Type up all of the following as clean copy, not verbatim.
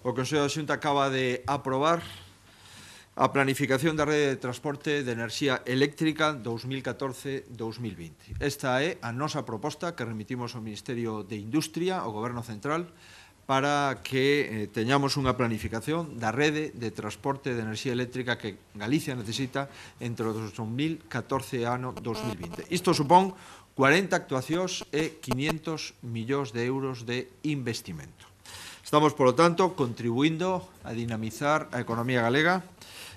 O Consello da Xunta acaba de aprobar a planificación da rede de transporte de enerxía eléctrica 2014-2020. Esta é a nosa proposta que remitimos ao Ministerio de Industria, ao Goberno Central, para que teñamos unha planificación da rede de transporte de enerxía eléctrica que Galicia necesita entre o 2014 e ano 2020. Isto supón 40 actuacións e 500 millóns de euros de investimento. Estamos, polo tanto, contribuindo a dinamizar a economía galega,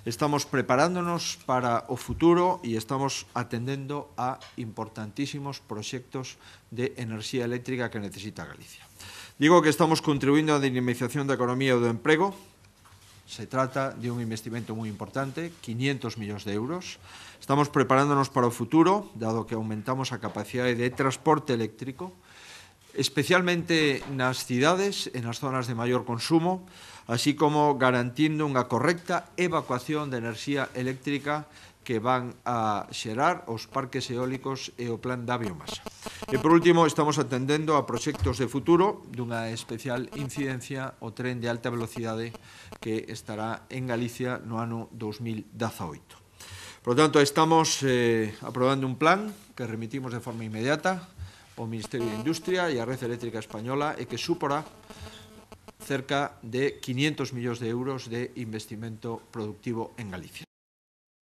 estamos preparándonos para o futuro e estamos atendendo a importantísimos proxectos de enerxía eléctrica que necesita Galicia. Digo que estamos contribuindo á dinamización da economía e do emprego. Se trata de un investimento moi importante, 500 millóns de euros. Estamos preparándonos para o futuro, dado que aumentamos a capacidade de transporte eléctrico, especialmente nas cidades e nas zonas de maior consumo, así como garantindo unha correcta evacuación de enerxía eléctrica que van a xerar os parques eólicos e o plan da biomasa. E, por último, estamos atendendo a proxectos de futuro dunha especial incidencia o tren de alta velocidade que estará en Galicia no ano 2018. Por lo tanto, estamos aprobando un plan que remitimos de forma inmediata ao Ministerio de Industria e a Rede Eléctrica Española e que suporá cerca de 500 millóns de euros de investimento productivo en Galicia.